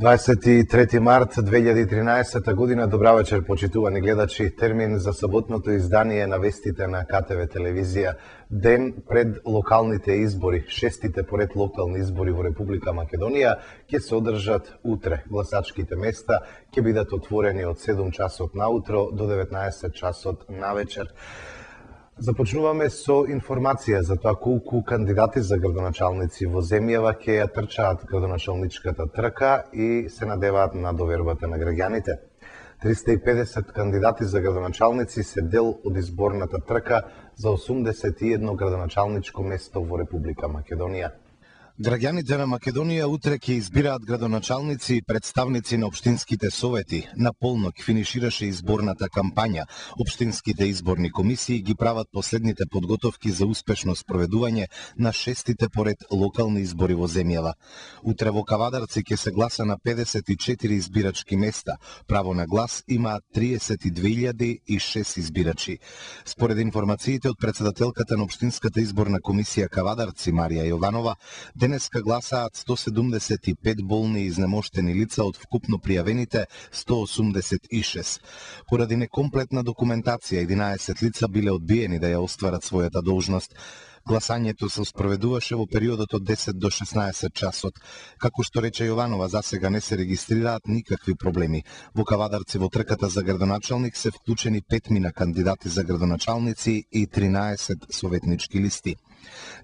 23 март 2013 година. Добра вечер, почитувани гледачи. Термин за саботното издание на вестите на КТВ телевизија. Ден пред локалните избори, шестите поред локални избори во Република Македонија, ќе се одржат утре. Гласачките места ќе бидат отворени од 7 часот наутро до 19 часот навечер. Започнуваме со информација за тоа колку кандидати за градоначалници во земјава ќе ја трчаат градоначалничката трка и се надеваат на довербата на граѓаните. 350 кандидати за градоначалници се дел од изборната трка за 81 градоначалничко место во Република Македонија. Граѓаните на Македонија утре ќе избираат градоначалници и представници на општинските совети. На полнок финишираше изборната кампања. Општинските изборни комисии ги прават последните подготовки за успешно спроведување на шестите поред локални избори во земјава. Утре во Кавадарци ќе се гласа на 54 избирачки места. Право на глас имаат 32.006 избирачи. Според информациите од председателката на Општинската изборна комисија Кавадарци Марија Јованова, денеска гласаат 175 болни и изнемоштени лица од вкупно пријавените 186. Поради некомплетна документација, 11 лица биле одбиени да ја остварат својата должност. Гласањето се спроведуваше во периодот од 10 до 16 часот. Како што рече Јованова, засега не се регистрираат никакви проблеми. Во Кавадарци во трката за градоначалник се вклучени 5 кандидати за градоначалници и 13 советнички листи.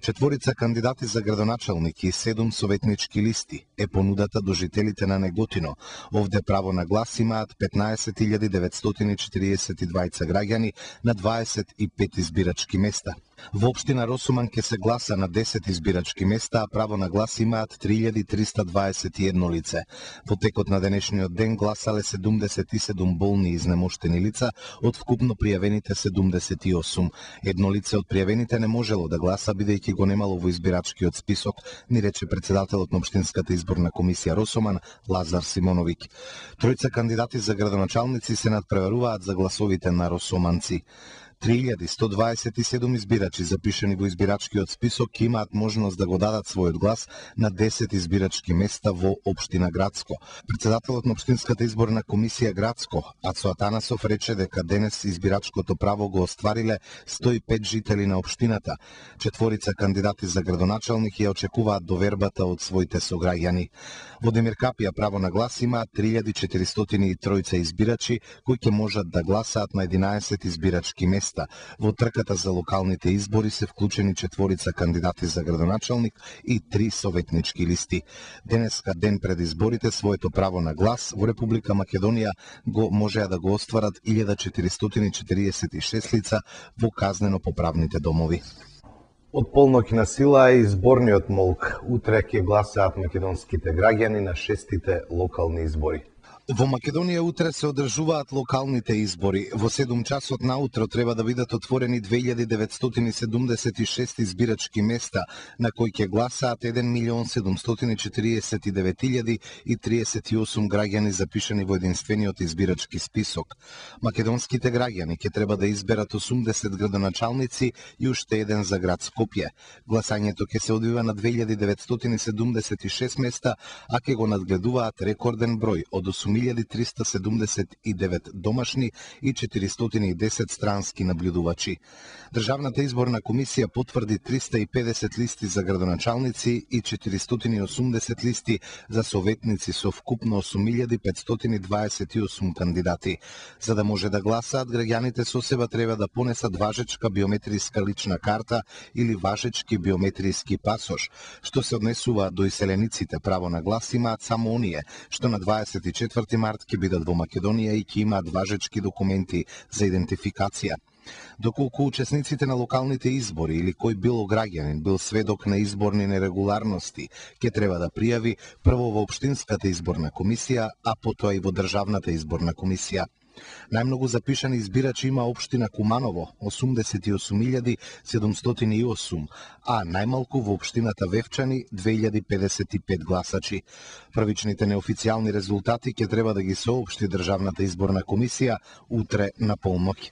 4 кандидати за градоначалник и 7 советнички листи е понудата до жителите на Неготино. Овде право на глас имаат 15.942 граѓани на 25 избирачки места. Во општина Росуман ќе се гласа на 10 избирачки места, а право на глас имаат 3.321 лице. Во текот на денешниот ден гласале 77 болни и изнемоштени лица од вкупно пријавените 78. Едно лице од пријавените не можело да гласа бидејќи го немало во избирачкиот список, ни рече председателот на Општинската изборна комисија Росуман Лазар Симоновиќ. 3 кандидати за градоначалници се надпреваруваат за гласовите на росоманци. 3127 избирачи запишани во избирачкиот список ќе имаат можност да го дадат својот глас на 10 избирачки места во општина Градско. Председателот на Општинската изборна комисија Градско, Ацо Атанасов, рече дека денес избирачкото право го оствариле 105 жители на општината. 4 кандидати за градоначалник ја очекуваат довербата од своите сограѓани. Во Демир Капија право на глас имаат 3403 избирачи кои ќе можат да гласаат на 11 избирачки места. Во трката за локалните избори се вклучени 4 кандидати за градоначалник и 3 советнички листи. Денеска, ден пред изборите, своето право на глас во Република Македонија го можеа да го остварат 1446 лица во казнено-поправните домови. Од полноќ на сила е изборниот молк. Утре ќе гласаат македонските граѓани на шестите локални избори. Во Македонија утре се одржуваат локалните избори. Во 7 часот наутро треба да бидат отворени 2976 избирачки места, на кои ќе гласаат 1.749.038 граѓани запишани во единствениот избирачки список. Македонските граѓани ќе треба да изберат 80 градоначалници и уште еден за град Скопје. Гласањето ќе се одвива на 2976 места, а ќе го надгледуваат рекорден број од 8379 домашни и 410 странски наблюдувачи. Државната изборна комисија потврди 350 листи за градоначалници и 480 листи за советници со вкупно 8528 кандидати. За да може да гласаат, граѓаните со себе треба да понесат важечка биометриска лична карта или важечки биометриски пасош. Што се однесува до иселениците, право на глас имаат само оние што на 24 март ќе бидат во Македонија и ќе имаат важечки документи за идентификација. Доколку учесниците на локалните избори или кој било граѓанин бил сведок на изборни нерегуларности, ќе треба да пријави прво во Општинската изборна комисија, а потоа и во Државната изборна комисија. Најмногу запишани избирачи има општина Куманово 88.708, а најмалку во општината Вевчани 2055 гласачи. Првичните неофицијални резултати ќе треба да ги соопшти Државната изборна комисија утре на полноќ.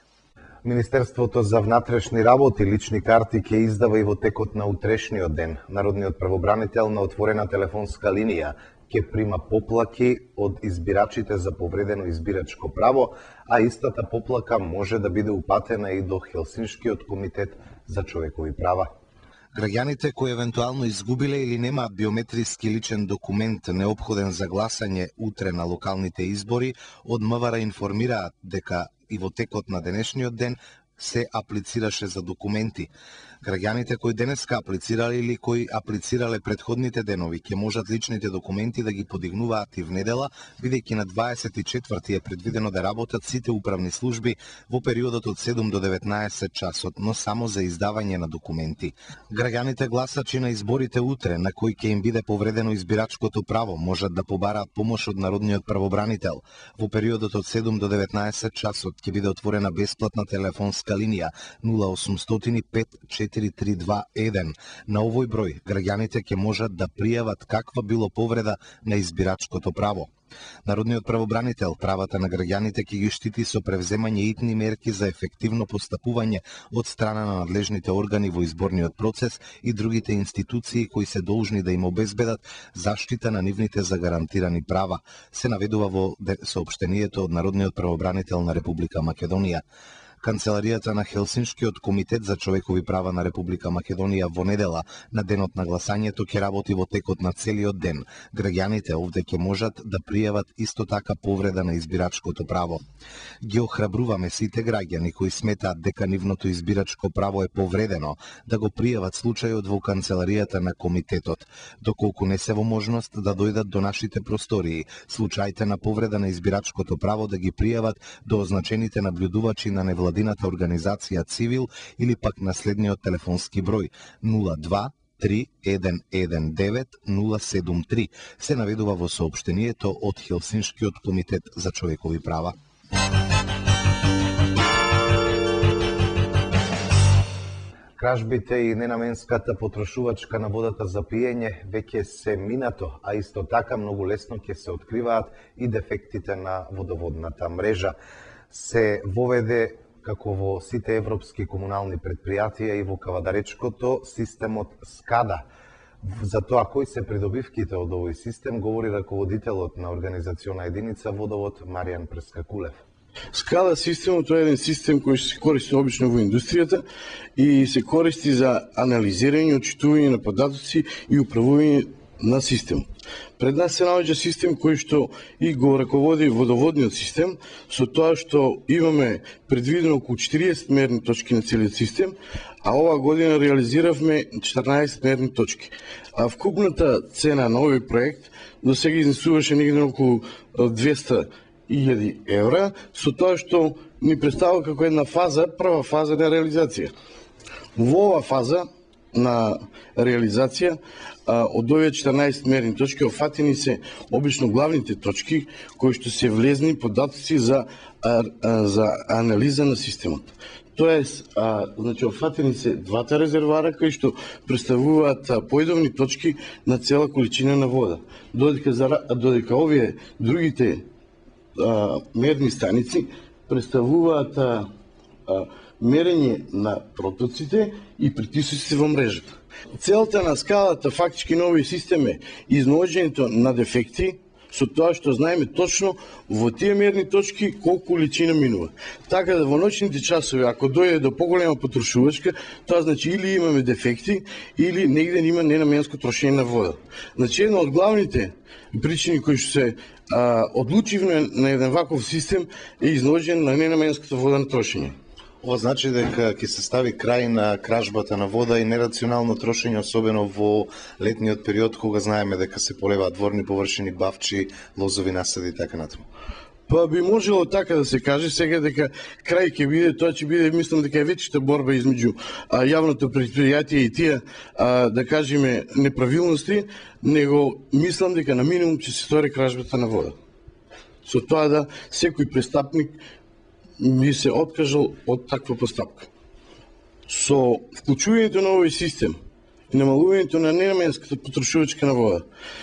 Министерството за внатрешни работи лични карти ќе издава и во текот на утрешниот ден. Народниот правобранител на отворена телефонска линија ќе прима поплаки од избирачите за повредено избирачко право, а истата поплака може да биде упатена и до Хелсиншкиот комитет за човекови права. Граѓаните кои евентуално изгубиле или немаат биометриски личен документ неопходен за гласање утре на локалните избори, од МВР информираат дека и во текот на денешниот ден се аплицираше за документи. Граѓаните кои денеска аплицирале или кои аплицирале предходните денови ќе можат личните документи да ги подигнуваат и внедела, бидејќи на 24 е предвидено да работат сите управни служби во периодот од 7 до 19 часот, но само за издавање на документи. Граѓаните гласачи на изборите утре, на кои ќе им биде повредено избирачкото право, можат да побараат помош од народниот правобранител. Во периодот од 7 до 19 часот ќе биде отворена бесплатна телефонска линија 0800 54321. На овој број граѓаните ќе можат да пријават каква било повреда на избирачкото право. Народниот правобранител правата на граѓаните ќе ги штити со превземање итни мерки за ефективно постапување од страна на надлежните органи во изборниот процес и другите институции кои се должни да им обезбедат заштита на нивните загарантирани права, се наведува во соопштението од Народниот правобранител на Република Македонија. Канцеларијата на Хелсиншкиот комитет за човекови права на Република Македонија во недела на денот на гласањето ќе работи во текот на целиот ден. Граѓаните овде ќе можат да пријават исто така повреда на избирачкото право. Ги охрабруваме сите граѓани кои сметаат дека нивното избирачко право е повредено да го пријават случајот во канцеларијата на комитетот, доколку не се во можност да дојдат до нашите простории. Случаите на повреда на избирачкото право да ги пријават до означените наблюдувачи на невладината организација Цивил или пак на следниот телефонски број 02 3119 073 се наведува во соопштението од Хелсиншкиот комитет за човекови права. Кражбите и ненаменската потрошувачка на водата за пиење веќе се минато, а исто така многу лесно ќе се откриваат и дефектите на водоводната мрежа. Се воведе како во сите европски комунални предпријатија и во Кавадаречкото системот SCADA. За тоа кои се придобивките од овој систем говори раководителот на организациона единица Водовод Маријан Прескакулев. SCADA системот е еден систем кој се користи обично во индустријата и се користи за анализирање, отчитување на податоци и управување на системот. Пред нас се наоѓа систем кој што и го раководи водоводниот систем, со тоа што имаме предвидено околу 40 мерни точки на целиот систем, а оваа година реализиравме 14 мерни точки. А вкупната цена на овој проект до сега изнесуваше негде околу 200.000 евра, со тоа што ни представува како една фаза, прва фаза на реализација. Во оваа фаза на реализација од овие 14 мерни точки офатени се обично главните точки кои што се влезни податоци за анализа на системот. Тоест, значи офатени се двата резервара кои што представуваат поидовни точки на цела количина на вода. Додека овие другите мерни станици представуваат мерење на протоците и притисоците во мрежата. Целта на скалата фактички на овој систем е изнаоѓањето на дефекти со тоа што знаеме точно во тие мерни точки колку количина минува. Така да во ноќните часови, ако дојде до поголема потрошувачка, тоа значи или имаме дефекти, или негде има ненаменско трошење на вода. Значи една од главните причини кои што се одлучивме на еден ваков систем е изнаоѓање на ненаменската вода на трошење. Ова значи дека ќе се стави крај на кражбата на вода и нерационално трошење, особено во летниот период, кога знаеме дека се полеваат дворни површини, бавчи, лозови насади и така натаму. Па би можело така да се каже, сега дека крај ќе биде, тоа ќе биде, мислам дека е вечната борба измеѓу јавното предпријатие и тие, да кажеме, неправилности, него мислам дека на минимум ќе се стори кражбата на вода. Со тоа да секој престапник ми се откажал од таква постапка. Со вклучувањето на овој систем и намалувањето на ненаменската потрошувачка на вода,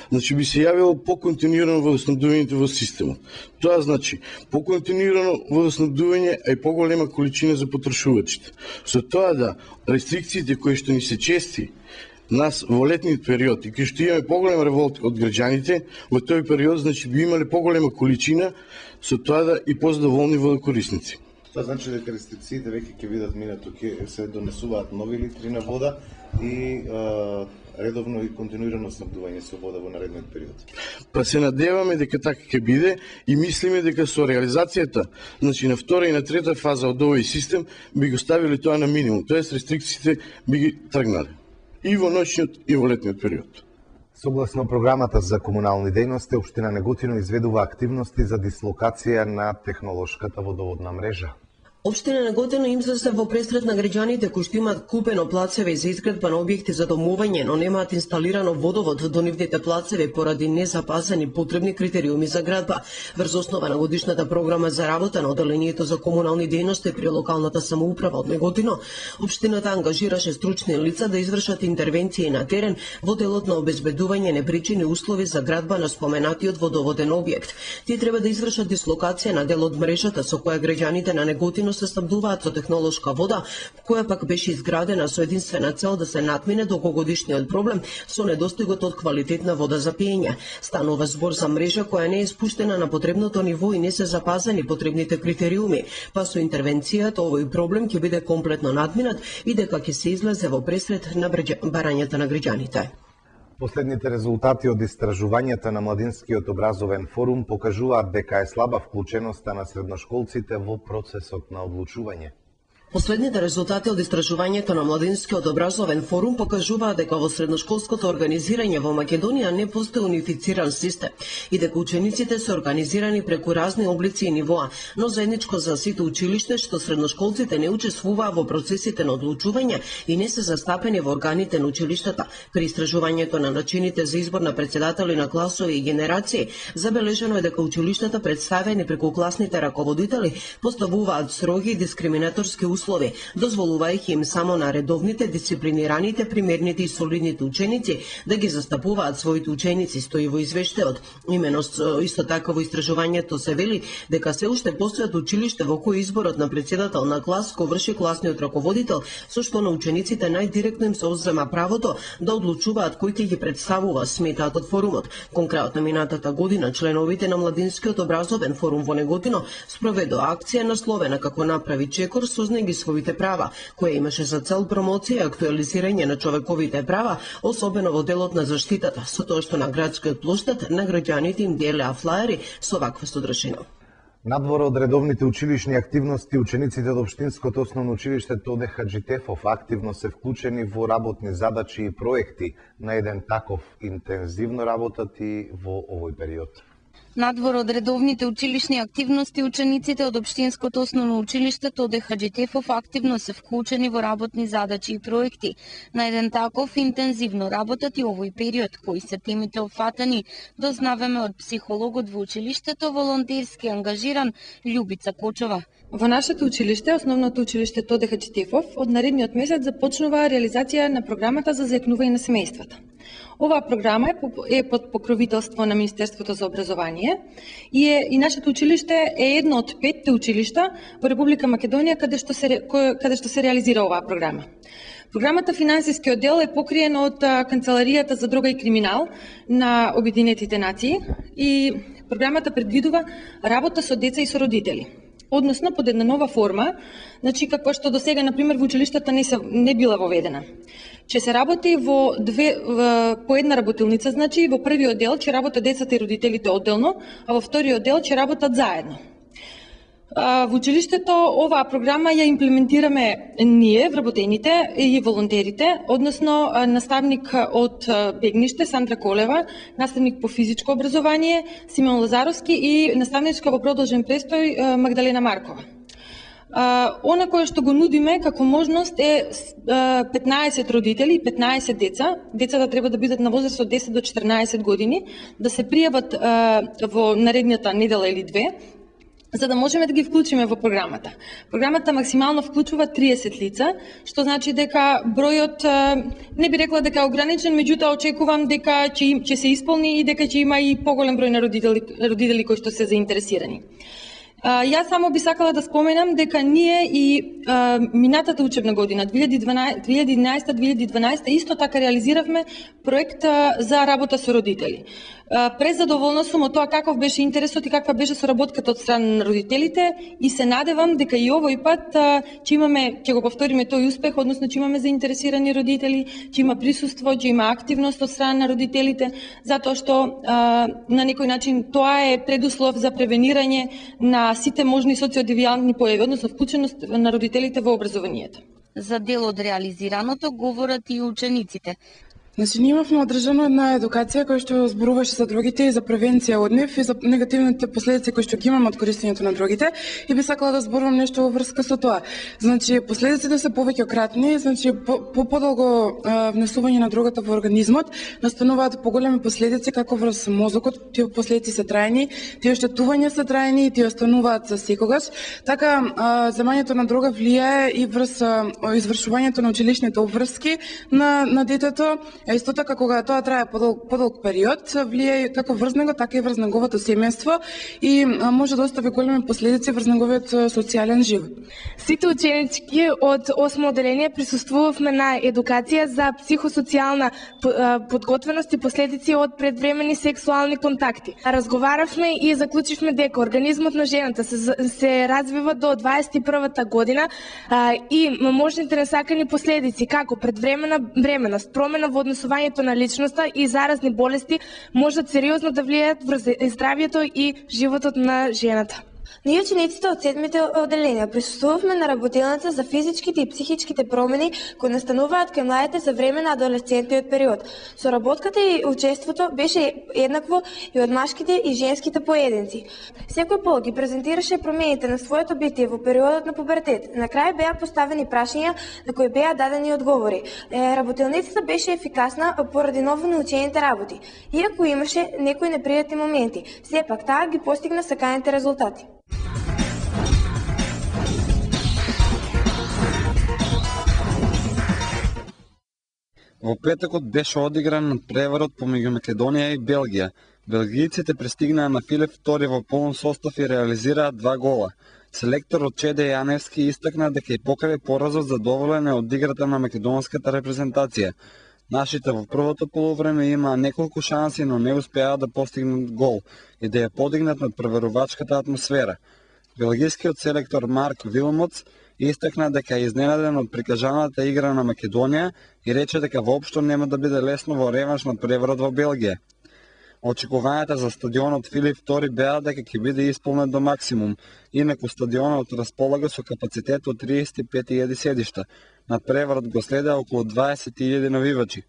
значи би се јавило поконтинуирано водоснабдувањето во системот. Тоа значи поконтинуирано водоснабдување, а и поголема количина за потрошувачите. Со тоа да рестрикциите кои што ни се чести Нас во летниот период и кај што имаме поголем револт од граѓаните, во тој период значи би имале поголема количина, со тоа да и позадоволни водокорисници. Тоа значи дека рестрикциите веќе ќе бидат минато, ќе се донесуваат нови литри на вода и редовно и континуирано снабдување со вода во наредниот период. Па се надеваме дека така ќе биде и мислиме дека со реализацијата, значи на втора и на трета фаза од овој систем би го ставили тоа на минимум, тоест рестрикциите би ги тргнале и во ноќниот и во летниот период. Согласно програмата за комунални дејности, општина Неготино изведува активности за дислокација на технолошката водоводна мрежа. Општина Неготино им се во пресрет на граѓаните кои што имаат купено плацеви за изградба на објекти за домување, но немаат инсталирано водовод до нивните плацеви поради незапазени потребни критериуми за градба. Врз основа на годишната програма за работа на Оделението за комунални дејности при локалната самоуправа од Неготино, општината ангажираше стручни лица да извршат интервенции на терен во делот на обезбедување непричини услови за градба на споменатиот водоводен објект. Тие треба да извршат дислокација на дел од мрежата со која граѓаните на Неготино се снабдуваат со технолошка вода, која пак беше изградена со единствена цел да се надмине долгогодишниот проблем со недостигот од квалитетна вода за пиење. Станува збор за мрежа која не е спуштена на потребното ниво и не се запазени потребните критериуми, па со интервенцијата овој проблем ќе биде комплетно надминат и дека ќе се излезе во пресрет на барањата на граѓаните. Последните резултати од истражувањата на Младинскиот образовен форум покажуваат дека е слаба вклученоста на средношколците во процесот на одлучување. Последните резултати од истражувањето на Младинскиот образовен форум покажуваат дека во средношколското организирање во Македонија не постои унифициран систем и дека учениците се организирани преку разни облици и нивоа, но заедничко за сите училиште што средношколците не учествуваа во процесите на одлучување и не се застапени во органите на училиштата. При истражувањето на начините за избор на претседатели на класови и генерации, забележено е дека училиштата представени преку класните раководители поставуваат строги и дискриминаторски услови, дозволувајќи им само на редовните, дисциплинираните, примерните и солидните ученици да ги застапуваат своите ученици, стои во извештајот. Имено исто така во истражувањето се вели дека се уште постојат училиште во кои изборот на претседател на клас го врши класниот раководител, со што на учениците најдиректно им се одзема правото да одлучуваат кој ќе ги представува, сметаат од форумот. Конкретно минатата година членовите на Младинскиот образовен форум во Неготино спроведоа акција насловена како направи чекор сознајќи своите права, која имаше за цел промоција и актуализирање на човековите права, особено во делот на заштитата, со тоа што на градскиот плоштад на граѓаните им делеа флаери со ваква содржина. Надвор од редовните училишни активности, учениците од Општинското основно училиште Тоде Хаџитефов активно се вклучени во работни задачи и проекти. На еден таков интензивно работат и во овој период. Надвор од редовните училишни активности, учениците од Општинското основно училиште Тоде Хаџитефов активно се вклучени во работни задачи и проекти. На еден таков интензивно работат и овој период, кои се темите опфатани, дознаваме од психологот во училиштето, волонтерски ангажиран Љубица Кочова. Во нашето училиште, основното училиште Тоде Хаџитефов, од наредниот месец започнува реализација на програмата за зајакнување на семејствата. Оваа програма е под покровителство на Министерството за образование и нашето училиште е едно од 5 училишта во Република Македонија каде што се реализира оваа програма. Програмата финансиски оддел е покриен од Канцеларијата за дрога и криминал на Обединетите нации и програмата предвидува работа со деца и со родители. Односно под една нова форма, значи како што досега на пример во училиштата не била воведена. Че се работи по една работилница, значи во првиот дел ќе работат децата и родителите одделно, а во вториот дел ќе работат заедно. Во училиштето оваа програма ја имплементираме ние, вработените и волонтерите, односно наставник од Бегниште Сандра Колева, наставник по физичко образование Симеон Лазаровски и наставничка во продолжен престој Магдалена Маркова. Она кое што го нудиме како можност е 15 родители и 15 деца. Децата треба да бидат на возраст од 10 до 14 години, да се пријават во наредната недела или две, за да можеме да ги вклучиме во програмата. Програмата максимално вклучува 30 лица, што значи дека бројот не би рекла дека е ограничен, меѓутоа очекувам дека ќе се исполни и дека ќе има и поголем број на родители кои што се заинтересирани. Јас само би сакала да споменам дека ние и минатата учебна година 2011-2012 исто така реализиравме проект за работа со родители. Презадоволна сум од тоа каков беше интересот и каква беше соработката од страна на родителите и се надевам дека и овој пат ќе го повториме тој успех, односно ќе имаме заинтересирани родители, ќе има присуство, ќе има активност од страна на родителите, затоа што на некој начин тоа е предуслов за превенирање на сите можни социодевијантни појави, односно вклученост на родителите во образованието. За дел од реализираното говорат и учениците. Значи, ние имавме одржано една едукација која што зборуваше за дрогите и за превенција од нив и за негативните последици кои што ги имаме од користењето на дрогите и би сакала да зборувам нешто во врска со тоа. Значи, последиците се повеќократни, значи подолго внесување на дрогата во организмот настануваат поголеми последици како врз мозокот, тие последици се трајни, тие оштетувања се трајни и тие остануваат за секогаш. Така, земањето на дрога влијае и врз извршувањето на училишните обврски на детето. Исто така, кога тоа трае подолг период, влијае како врз него, така и врз неговото семејство и може да остави големи последици врз неговиот социјален живот. Сите ученички од 8 одделение присуствувавме на едукација за психосоцијална подготвеност и последици од предвремени сексуални контакти. Разговаравме и заклучивме дека организмот на жената се развива до 21-та година и можните несакани последици како предвремена бременост, промена во однесувањето на личноста и заразни болести можат сериозно да влијаат врз здравјето и животот на жената. Ние учениците од 7-те одделенија присуствувавме на работилница за физичките и психичките промени кои настануваат кај младите за време на адолесцентниот период. Соработката и учеството беше еднакво и од машките и женските поединци. Секој пол ги презентираше промените на своето битие во периодот на пубертет. На крај беа поставени прашања на кои беа дадени одговори. Работилницата беше ефикасна поради ново научените работи. Иако имаше некои непријатни моменти, сепак таа ги постигна саканите резултати. Во петокот беше одигран надпреварот помеѓу Македонија и Белгија. Белгијците пристигнаа на Филип II во полн состав и реализираа 2 гола. Селекторот Чеде Јаневски истакна дека и покрај поразот задоволен е од играта на македонската репрезентација. Нашите во првото полувреме имаа неколку шанси, но не успеа да постигнат гол и да ја подигнат над преверувачката атмосфера. Белгијскиот селектор Марк Вилмоц истакна дека е изненаден од прикажаната игра на Македонија и рече дека воопшто нема да биде лесно во реванш на преврат во Белгија. Очекувањата за стадионот Филип II беа дека ќе биде исполнет до максимум, инаку стадионот располага со капацитет од 35.000 седишта. Надпреварот го следеа околу 20.000 навивачи.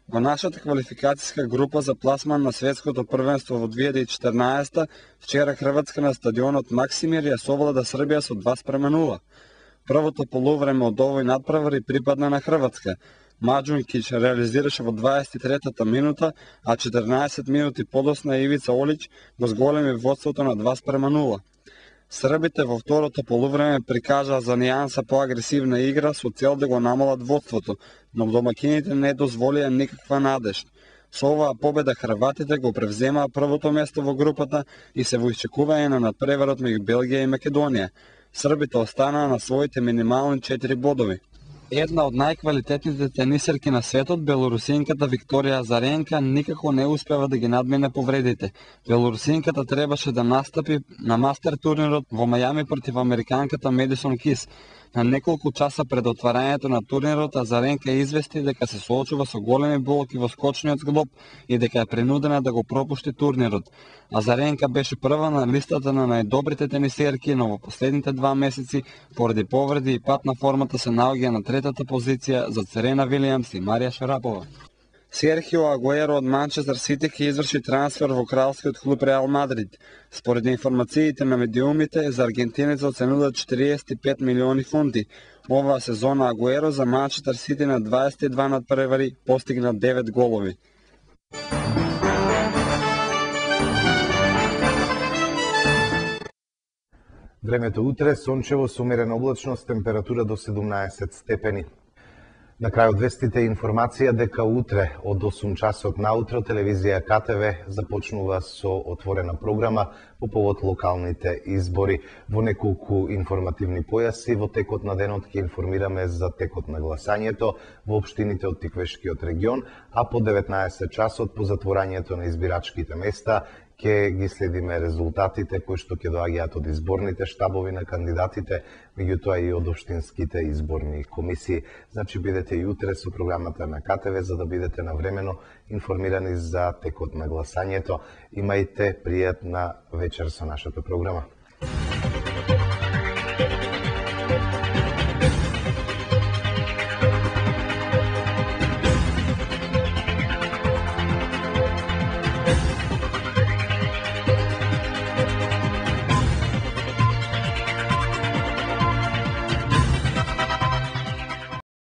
Во нашата квалификацијска група за пласман на светското првенство во 2014, вчера Хрватска на стадионот Максимир ја совлада Србија со 2:0. Првото полувреме од овој надпревар припадна на Хрватска. Маџункич реализираше во 23-та минута, а 14 минути подосна Ивица Олич го зголеми водството на 2:0. Србите во второто полувреме прикажаа за нијанса поагресивна игра со цел да го намалат водството, но домакините не дозволија никаква надеж. Со оваа победа хрватите го превземаа првото место во групата и се во исчекување на надпреварот меѓу Белгија и Македонија. Србите останаа на своите минимални 4 бодови. Една од најквалитетните тенисерки на светот, белорусинката Викторија Азаренка, никако не успева да ги надмине повредите. Белорусинката требаше да настапи на мастер турнирот во Мајами против американката Медисон Кис. На неколку часа пред отварањето на турнирот, Азаренка извести дека се соочува со големи болки во скочниот зглоб и дека е принудена да го пропушти турнирот. Азаренка беше прва на листата на најдобрите тенисерки, но во последните 2 месеци, поради повреди и пат на формата, се наоѓа на третата позиција за Серена Вилијамс и Марија Шарапова. Серхио Агуеро од Манчестер Сити ќе изврши трансфер во кралскиот клуб Реал Мадрид. Според информациите на медиумите, за аргентинецот се нудат 45 милиони фунти. Оваа сезона Агуеро за Манчестер Сити на 22 надпревари постигна 9 голови. Времето утре сончево со умерена облачност, температура до 17 степени. На крајот вестите информација дека утре од 8 часот наутро телевизија КТВ започнува со отворена програма по повод локалните избори. Во неколку информативни појаси во текот на денот ќе информираме за текот на гласањето во општините од Тиквешкиот регион, а по 19 часот по затворањето на избирачките места ќе ги следиме резултатите кои што ќе доаѓаат од изборните штабови на кандидатите, меѓутоа и од општинските изборни комисии. Значи бидете и утре со програмата на КТВ за да бидете навремено информирани за текот на гласањето. Имајте пријатна вечер со нашата програма.